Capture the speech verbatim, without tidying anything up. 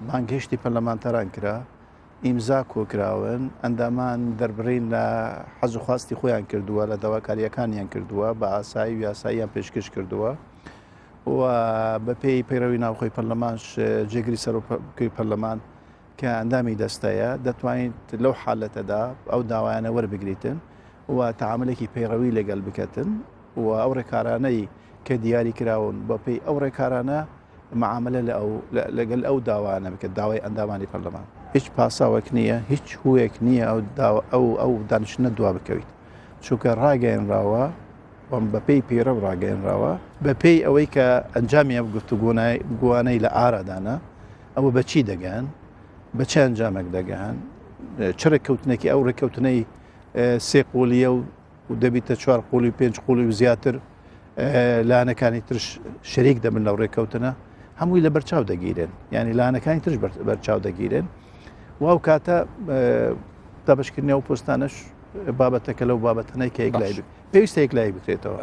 بانگهێشتی پەرلەمانتاران کرا، ئیمزا کۆکراون، ئەندامان دەربڕین لە حەز و خواستی خۆیان کردووە، لە داواکاریەکانیان کردووە، بە ئاسایی و یاساییان پێشکەش کردووە و بەپێی پەیڕەوی ناوخۆی پەرلەمانش جێگری سەرۆکی پەرلەمان کە ئەندامی دەستەیە دەتوانیت لەو حالەتەدا ئەو داوایانە وەربگریتن و تەعاملێکی پەیڕەوی لەگەڵ بکەتن و ئەو ڕێکارانەی کە دیاری کراون بەپێی ئەو ڕێکارانە معاملە لەگەل ئەو داوانە بکە، داوای ئەندامانی پەرلەمان. هیچ پاساوێک نییە، هیچ هوویەک نییە ئەو ئەو ئەو دانیشتنە دوا بکەویت، چونکە ڕاگەیەنراوە بەپێی پەیڕەو ڕاگەیەنراوە، بەپێی ئەوەی کە ئەنجامی ئەم گفتوگۆوانەی لە ئارادانە ئەوە بە چی دەگەن، بە چه ئەنجامێک دەگەن، چ ڕێککەوتنێکی ئەو ڕێککەوتنەی سێ قۆلیە و دەبیتە چوار قۆلی و پێنج قۆلی و زیاتر لایەنەکانی ترش شەریک دەبن لەو ڕێککەوتنە، هەمووی لە بەرچاو دەگیرن، یعنی لایەنەکانی ترش بەرچاو دەگیرن. و ئەو کاتە دابەشکردنی ئەو پۆستانەش بابەتەکە لەو بابەتەنەی کە یەکلایی پێویستە یەکلایی بکرێتەوە.